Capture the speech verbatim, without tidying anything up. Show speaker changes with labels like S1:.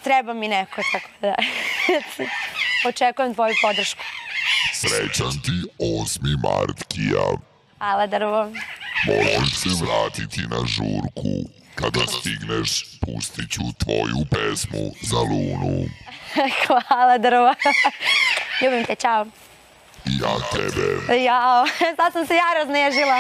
S1: treba mi neko, tako da očekujem tvoju podršku.
S2: Srećan ti osmi mart, Kija.
S1: Hvala, Drvo.
S2: Možeš se vratiti na žurku. Kada stigneš, pustit ću tvoju pesmu za Lunu.
S1: Hvala, Drvo. Ljubim te, čao.
S2: I ja tebe.
S1: Jao, sad sam se ja raznežila.